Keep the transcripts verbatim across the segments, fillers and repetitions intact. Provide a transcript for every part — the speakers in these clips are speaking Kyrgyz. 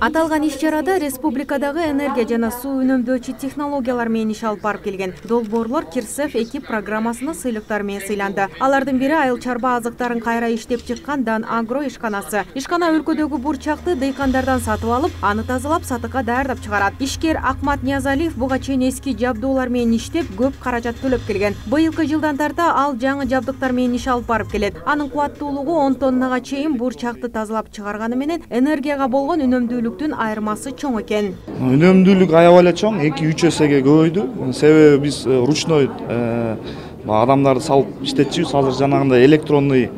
Аталган иш-чарада республикадагы энергия жана суу үнөмдөөчү технологиялар менен иш алып барып келген долбоорлор Кирсев эки программасына сыйлыктар менен сыйланды. Алардын бири айыл чарба азыктарын кайра иштеп чыккан Дан Агро ишканасы. Ишкана өлкөдөгү бурчакты дыйкандардан сатып алып, аны тазалап, сатыкка даярдап чыгарат. Ишкер Акмат Ниязалиев буга чейин эски жабдуулар менен иштеп, көп каражат төлөп келген. Быйылкы жылдан тарта ал жаңы жабдыктар менен иш алып барып келет. Анын кубаттуулугу он тоннага чейин бурчакты тазалап чыгарганы менен энергияга болгон үнөмдүүлүктүн айырмасы чоң экен. Үнөмдүүлүк аябай эле чоң, эки үч эсеге көбөйдү. Себеби биз ручной адамдарды салып иштетчүбүз. Азыр жанагындай электронный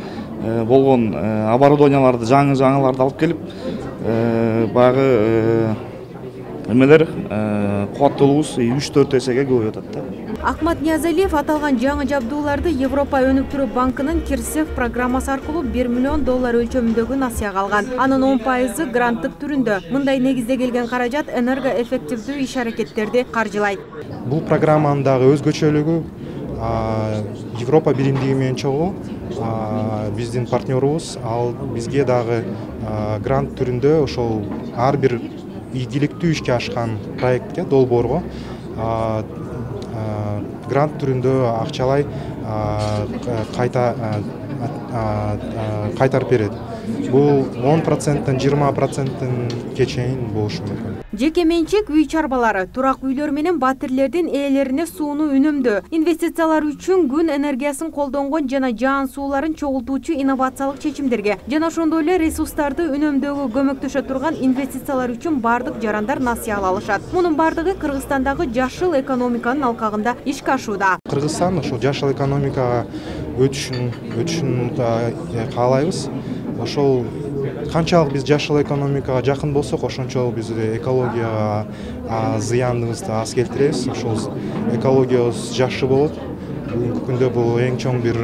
болгон оборудованияларды, жаңы жаңыларды алып келип, баягы эмелер кубаттуулугубуз үч төрт эсеге көбөйүп атат да. Акмат Ниязалиев аталган жаңы жабдууларды Европа өнүктүрүү банкынын Кирсев программасы аркылуу бир миллион доллар өлчөмүндөгү насыяга алган. Анын он пайызы гранттык түрүндө. Мындай негизде келген каражат энергоэффективдүү иш-аракеттерди каржылайт. Бул программанын дагы өзгөчөлүгү Европа биримдиги менен чогуу биздин партнерубуз, ал бизге дагы грант түрүндө ошол ар бир ийгиликтүү ишке ашкан проектке, долбоорго грант түрүндө акчалай кайта кайтарып берет. Бул он проценттен жыйырма процентке чейин болушу мүмкүн. Жеке менчик үй чарбалары, турак үйлөр менен батирлердин ээлерине сууну үнөмдөө, инвестициялар үчүн күн энергиясын колдонгон жана жаан сууларын чогултуучу инновациялык чечимдерге жана ошондой эле ресурстарды үнөмдөөгө көмөктөшө турган инвестициялар үчүн бардык жарандар насыя ала алышат. Мунун бардыгы Кыргызстандагы жашыл экономиканын алкагында ишке ашууда. Кыргызстан ошол жашыл экономикага өтүшүн өтүшүн каалайбыз. Ошол канчалык биз жашыл экономикага жакын болсок, ошончолук биз экологияга зыяныбызды аз келтиребиз. Ошол экологиябыз жакшы болот. Бүгүнкү күндө бул эң чоң бир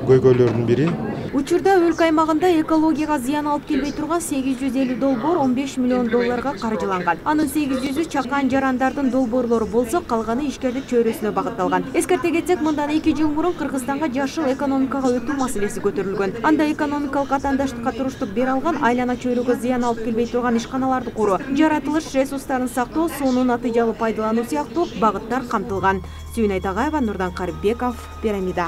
көйгөйлөрдүн бири. Учурда өлкө аймагында экологияга зыян алып келбей турган сегиз жүз элүү долбоор он беш миллион долларга каржыланган. Анын сегиз жүзү чакан жарандардын долбоорлору болсо, калганы ишкердик чөйрөсүнө багытталган. Эскерте кетсек, мындан эки жыл мурун Кыргызстанга жашыл экономикага өтүү маселеси көтөрүлгөн. Анда экономикалык атаандаштыкка туруштук бере алган, айлана чөйрөгө зыян алып келбей турган ишканаларды куруу, жаратылыш ресурстарын сактоо, сууну натыйжалуу пайдалануу сыяктуу багыттар камтылган. Сүйүн Айтагаева, Нурдан Карибеков, Пирамида.